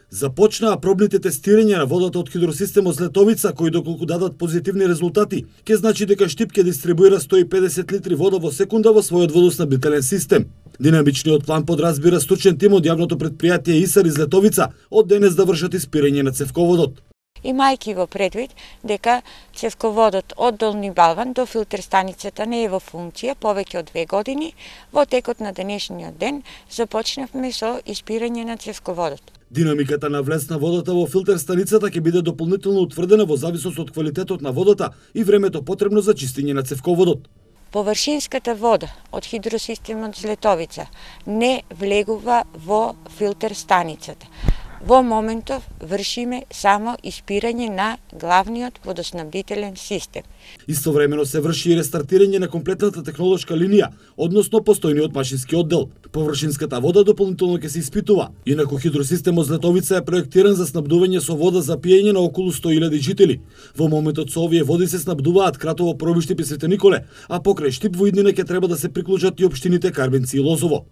Започнаа пробните тестирања на водата од хидросистемот Злетовица, кои доколку дадат позитивни резултати, ќе значи дека Штип ќе дистрибуира 150 литри вода во секунда во својот водоснабдителен систем. Динамичниот план подразбира стручен тим од јавното претпријатие ИСАР из Летовица од денес да вршат испирање на цевководот. Имајќи во предвид дека цевководот од Долни Балван до филтер станицата не е во функција повеќе од 2 години, во текот на денешниот ден започнавме со испирање на цевководот. Динамиката на влез на водата во филтер станицата ќе биде дополнително утврдена во зависност од квалитетот на водата и времето потребно за чистење на цевководот. Површинската вода од хидросистемот Злетовица не влегува во филтер станицата. Во моментов вршиме само испирање на главниот водоснабдителен систем. Истовремено се врши и рестартирање на комплетната технолошка линија, односно постојниот машински оддел. Површинската вода дополнително ќе се испитува. Инаку хидросистемот Злетовица е проектиран за снабдување со вода за пиење на околу 100.000 жители. Во моментот со овие води се снабдуваат Кратово, Пробиштип и Свети Николе, а покрај Штип во иднина ќе треба да се приклучат и општините Карбенци и Лозово.